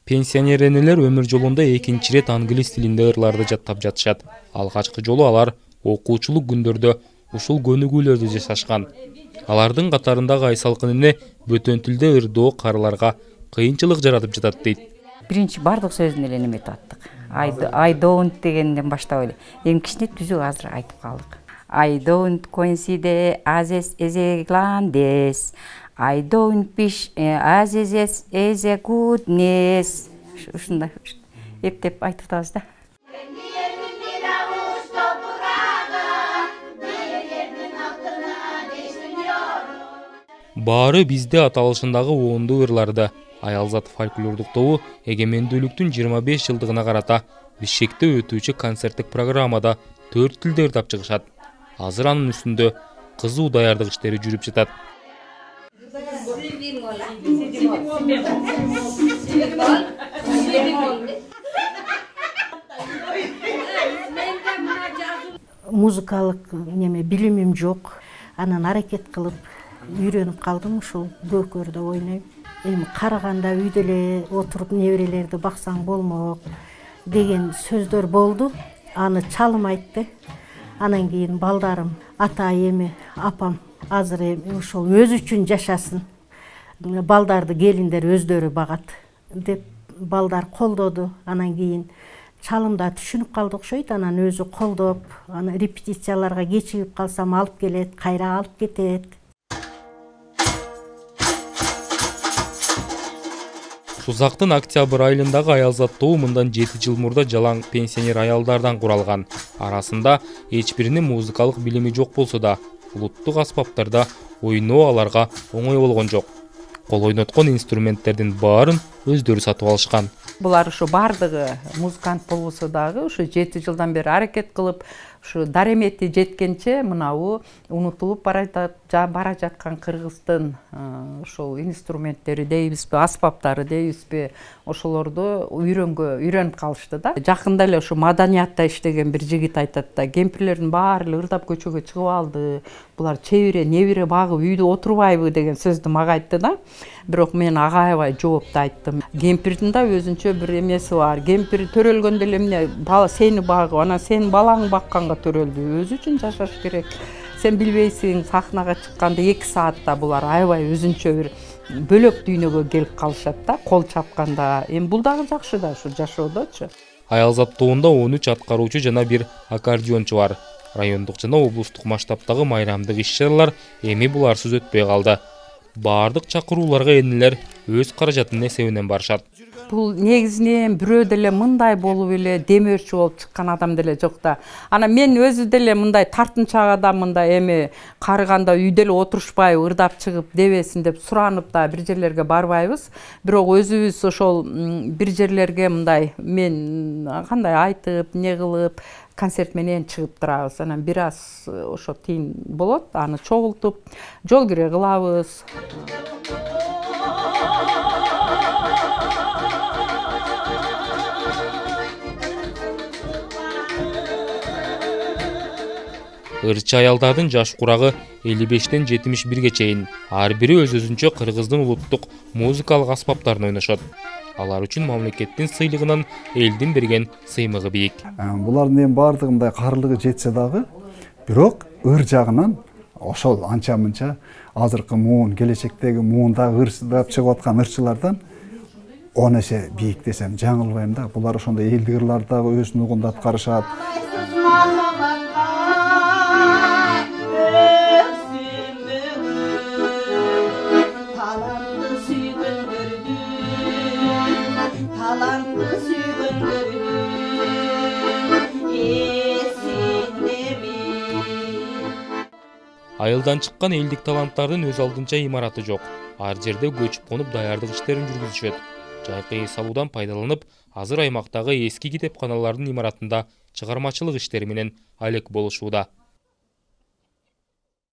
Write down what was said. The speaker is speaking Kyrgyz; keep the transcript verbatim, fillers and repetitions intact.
Пенсионер энелер өмүр жолунда экинчи ирет англис тилинде ырларды жаттап жатышат. Алгачкы жолу алар окуучулук күндөрдө ушул көнүгүүлөрдү жасашкан. Алардын катарындагы Айсалкын эне бөтөн тилде ырдоо карыларга кыйынчылык жаратып жатат дейт. Биринчи бардык сөзүн эле неметип аттык. I don't дегенден баштап эле. Эми кичине түзүк азыр айтып калдык. I don't consider as a gladness. I don't wish as as a goodness. Ушундай эптеп айтып атабыз да. Баары бизде аталышындагы оонду ырларды Аялзат фольклордук тобу эгемендүүлүктүн жыйырма беш жылдыгына карата Бишкекте өтүүчү концерттик программада төрт тилде ырдап чыгышат. Азыр анын үстүндө кызуу даярдык иштери жүрүп жатат. Музыкалык неме билимим жок. Анан аракет кылып үйрөнүп калдым, ушул көкөрдө ойнойм. Эми караганда үйдө эле отуруп неберелерди баксаң болмок деген сөздөр болду. Аны чалым айтты. Анан кийин балдарым, ата эми, апам азыр эми ошол өзү үчүн жашасын. Балдарды келиндер өздөрү багат деп балдар колдоду. Анан кийин чалымда түшүнүп калды окшойт. Анан өзү колдоп, аны репетицияларга кечигип калсам алып келет, кайра алып кетет. Сузактын октябрь айылындагы Аялзат тобу мындан жети жыл мурда жалаң пенсионер аялдардан куралган. Арасында эч биринин музыкалык билими жок болсо да, улуттук аспаптарда ойноо аларга оңой болгон жок. Кол ойноткон инструменттердин баарын өздөрү сатып алышкан. Булар ушу бардыгы музыкант болбосо дагы ушу жети жылдан бери аракет кылып, ушу даремети жеткенче мынабу унутулуп бара бара жаткан Кыргыздын ошол инструменттери дейбизби, аспаптары дейбизби, ошолорду үйрөнгө үйрөнүп калышты да. Жакында эле ушу маданиятта иштеген бир жигит айтат да, кемпирлердин баары эле ырдап көчөгө чыгып алды. Булар чебире, небире багып үйдө отурбайбы деген сөздү мага айтты да. Бирок мен ага аябай жоопту айттым. Кемпирдин да өзүнчө бир эмеси бар. Кемпир төрөлгөндө эле эмне бала сени багып, анан сен балаңды бакканга төрөлдү. Өзү үчүн жашаш керек. Сен билбейсиң, сахнага чыкканда эки саатта булар аябай өзүнчө бир бөлөк дүйнөгө келип калышат да, кол чапканда. Эми бул дагы жакшы да ушу жашоодочу. Аялзат тобунда он үч аткаруучу жана бир аккордеончу бар. Райондук жана облустук масштабтагы майрамдык иш-чаралар эми буларсыз өтпөй калды. Бардык чакырууларга энелер өз каражатынын эсебинен барышат. Бул негизинен бирөө деле мындай болуп эле демөөрчү болуп чыккан адам деле жок да. Анан мен өзү деле мындай тартынчаак адам, мындай эми карыганда үйдө эле отурушпайбы, ырдап чыгып дебесин деп суранып да бир жерлерге барбайбыз. Бирок өзүбүз ошол бир жерлерге мындай мен кандай айтып, не кылып концерт менен чыгып турабыз. Анан бир аз ошо тыйын болот, аны чогултуп, жол кире кылабыз. Ырчы аялдардын жаш курагы элүү бештен жетимиш бирге чейин. Ар бири өз-өзүнчө Кыргыздын улуттук музыкалык аспаптарын ойношот. Алар үчүн мамлекеттин сыйлыгынан элдин берген сыймыгы бийик. Булардын эми бардыгы мындай карылыгы жетсе дагы, бирок ыр жагынан ошол анча-мынча азыркы муун, келечектеги муундагы ырдап чыгып аткан ырчылардан он эсе бийик десем жаңылбайм да. Булар ошондой элдик ырларды дагы өзүнүн угунда аткарышат. Айылдан чыккан элдик таланттардын өз алдынча имараты жок. Ар жерде көчүп конуп даярдык иштерин жүргүзүшөт. Жайкы эс алуудан пайдаланып, азыр аймактагы эски китепканалардын имаратында чыгармачылык иштери менен алек болушууда.